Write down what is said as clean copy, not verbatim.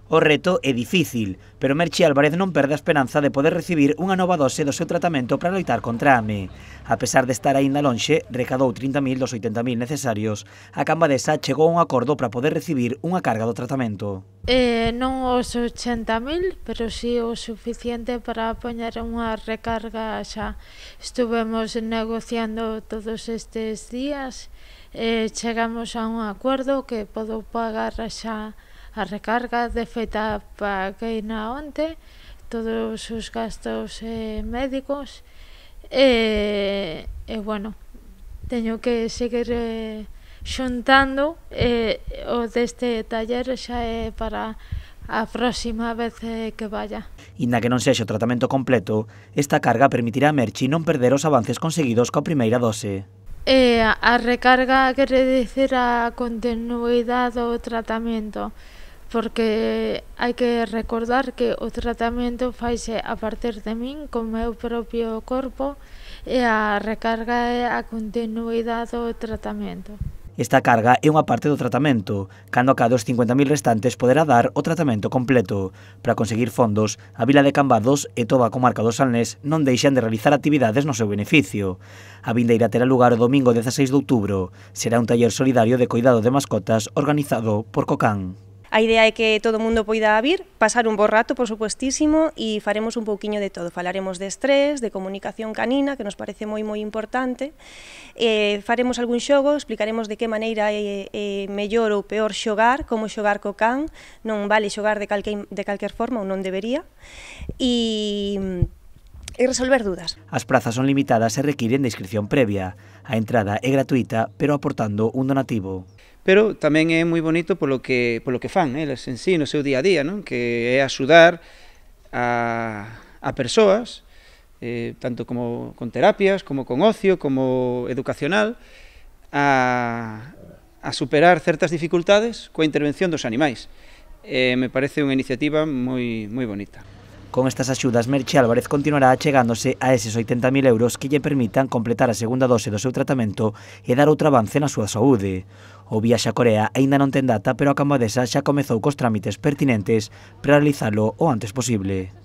O reto é difícil, pero Merchi Álvarez non perde a esperanza de poder recibir unha nova dose do seu tratamento para loitar contra a AME. A pesar de estar aínda lonxe, recadou 30.000 dos 80.000 necesarios. A Cambadesa chegou a un acordo para poder recibir unha carga do tratamento. Non os 80.000, pero sí o suficiente para poñer unha recarga xa. Estuvemos negociando todos estes días, chegamos a un acordo que podo pagar xa a recarga. De feita paguei na onte todos os gastos médicos e bueno, teño que seguir xuntando o deste taller xa é para a próxima vez que vaya. Inda que non sexa o tratamento completo, esta carga permitirá a Merchi non perder os avances conseguidos coa primeira dose. A recarga quere dicir a continuidade do tratamento, porque hai que recordar que o tratamento faise a partir de min co meu propio corpo e a recarga é a continuidade do tratamento. Esta carga é unha parte do tratamento. Cando acabe os 50.000 restantes poderá dar o tratamento completo. Para conseguir fondos, a vila de Cambados e toda a comarca do Salnés non deixan de realizar actividades no seu beneficio. A vindeira terá lugar o domingo 16 de outubro. Será un taller solidario de cuidado de mascotas organizado por Cocán. A idea é que todo o mundo poida vir, pasar un bo rato, por supuestísimo, e faremos un pouquiño de todo. Falaremos de estrés, de comunicación canina, que nos parece moi importante. Faremos algún xogo, explicaremos de que maneira é mellor ou peor xogar, como xogar co can, non vale xogar de calquer forma ou non debería. E resolver dudas. As prazas son limitadas e requiren de inscripción previa. A entrada é gratuita, pero aportando un donativo. Pero tamén é moi bonito polo que fan eles en sí no seu día a día, non? Que é axudar a persoas, tanto como con terapias, como con ocio, como educacional, a superar certas dificultades coa intervención dos animais. Me parece unha iniciativa moi bonita. Con estas axudas, Merchi Álvarez continuará achegándose a eses 80.000 euros que lle permitan completar a segunda dose do seu tratamento e dar outro avance na súa saúde. O viaxe a Corea aínda non ten data, pero a Cambadesa xa comezou cos trámites pertinentes para realizalo o antes posible.